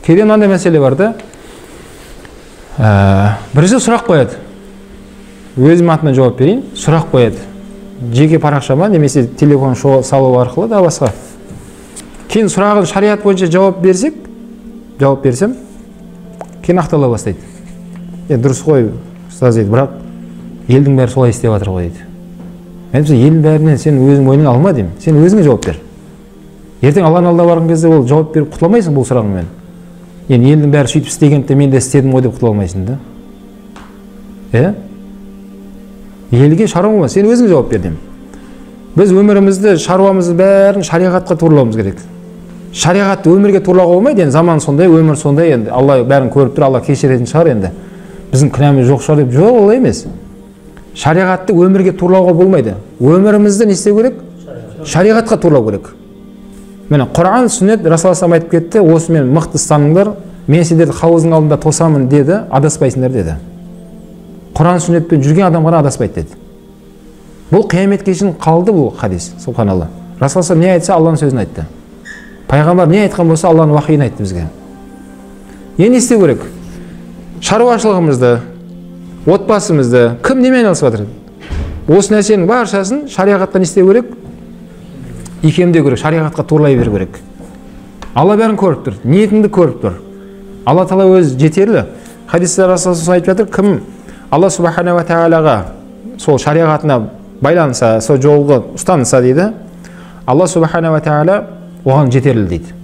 Кейде мындай маселе бар да. Бирisi сурак коет. Өзүм атынан жооп берейин. Сурак коет. Жеке паракчама немесе телефон салуу аркылуу да башка. Кийин сурагын шарият боюнча жооп берсем, кийин актала баштайт. Дурус кой, устаз дейт, бирок элдин баары солай иштеп атыр го дейт. Мен элдин баарынан сен өзүң мойнуңа алма дейм. Сен өзүңө жооп бер. Эртең Алланын алдына барган кезде ол жооп берип кутула алмайсың бул сурагың менен. Элдин баары сүйтүп истегенде мен да истедим го деп кутула алмайсың да. Элге шаруа, сен өзүң жооп бер дейм. Биз өмүрүмүздү, шаруамызды баарын шариатка тууралабыз керек. Шариатты өмүргө тууралага болбойт, заман сондай, өмүр сондай, Алла баарын көрүп тур, Алла кечиретін шығар енді. Біздің күнәміз жоқ шығар деп, жоқ, олай емес. Шариатты өмірге тууралауга болмайды. Өмірімізді не істеу керек? Шариатқа тууралау керек. Міне, Құран, сүннет, Расул айтып кетті, осы мен мықты станыңдар, мен сендерді хауыздың алдында тосамын деді, адаспайсыңдар деді. Құран, сүннетпен жүрген адам ғана адаспайды деді. Бұл қияметке шейін қалды бұл хадис, субханалла. Расул не айтса, Алланың сөзін айтты. Пайғамбар не айтқан болса, Алланың уахиын айтты бізге. Не істеу керек? Шаруашылығымызды, отбасымызды, кім немен айналысып жатыр? Осы нәрсенің баршасын шариғатқа не істеу керек? Икемдеу керек, шариғатқа турлай беру керек. Алла бәрін көріп тұр, ниетіңді көріп тұр. Алла Тағала өзі жетерлі. Хадисте Расул айтып жатыр, кім Алла субхана ва тағалаға сол шариғатына байланса, сол жолға ұстанса дейді, Алла субхана ва тағала оған жетерлі дейді.